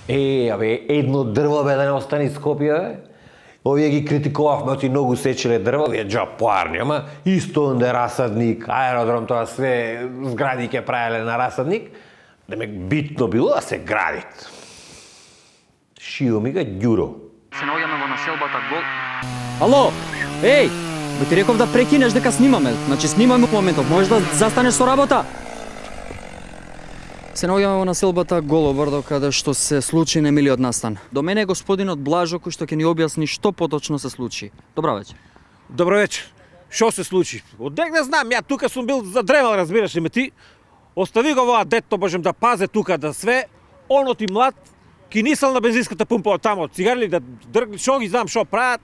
Абе, едно дрво бе да не остане Скопје, бе. Овие ги критикувавме, оти многу сечеле дрво, овие джапуарни, ама исто онде расадник, аеродром, тоа све згради ќе правеле на расадник, демек битно било да се градит. Шио ми га Ѓуро. Се наоѓаме во населбата Гол. Ало, еј, бе ти реков да прекинеш дека снимаме. Значи снимаме во моментов, можеш да застанеш со работа. Се наоѓаме во населбата Голобрдо, каде што се случи немилиот настан. До мене е господинот Блажо кој што ќе ни објасни што поточно се случи. Добра вечер. Добро вечер. Што се случи? Одек не знам, ја тука сум бил задревал, разбираш ли ме ти? Остави го воа детто, можем да пазе тука да све. Онот и млад, кинисал на бензинската пумпа од тамо, цигарли да дргли, шо ги знам шо прават.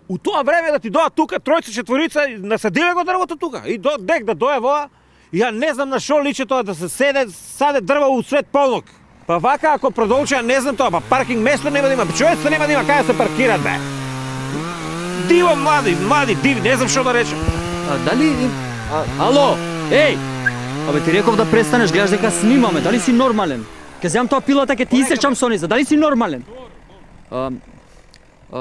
У тоа време да ти доа тука тројца, четворица, насадиле го дрвото тука. И дек да дое воа, ја не знам на шо личи тоа да се саде дрва у свет полнок. Па вака ако продолжи, ја не знам тоа, па паркинг место нема да има, човеците нема да има каде се паркират, бе. Диво млади, диви, не знам шо да речем. Дали... Ало, еј! Абе ти реков да престанеш, гледаш дека снимаме, дали си нормален? Ке земам тоа пилата, ке ти исечам со низа, дали си нормален?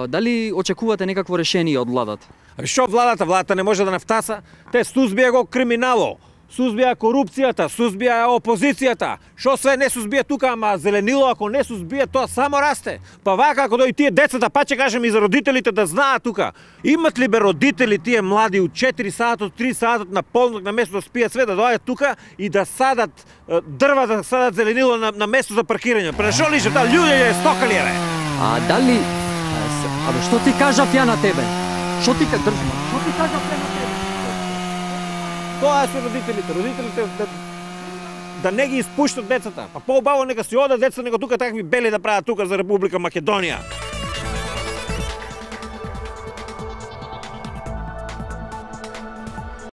Дали очекувате некакво решение од владата? Абе шо владата не може да нафтаса? Те сузбија го криминало, сузбија корупцијата, сузбија опозицијата. Шо све не сузбија тука, ама зеленило ако не сузбија тоа само расте. Па вака ако дојдат тие децата, па ќе кажем и за родителите да знаат тука. Имат ли бе родители тие млади у 4 сатот, 3 сатот на полнок на место да спијат све да доаѓат тука и да садат дрва, да садат зеленило на место за паркирање. Па шо лише таа луѓе стокали бе? Дали... Абе што ти кажав ја на тебе? Што ти кажав ја на тебе? Тоа се родителите да не ги испуштат децата. Па поубаво нека си одат деца, него тука такви бели да прават тука за Република Македонија.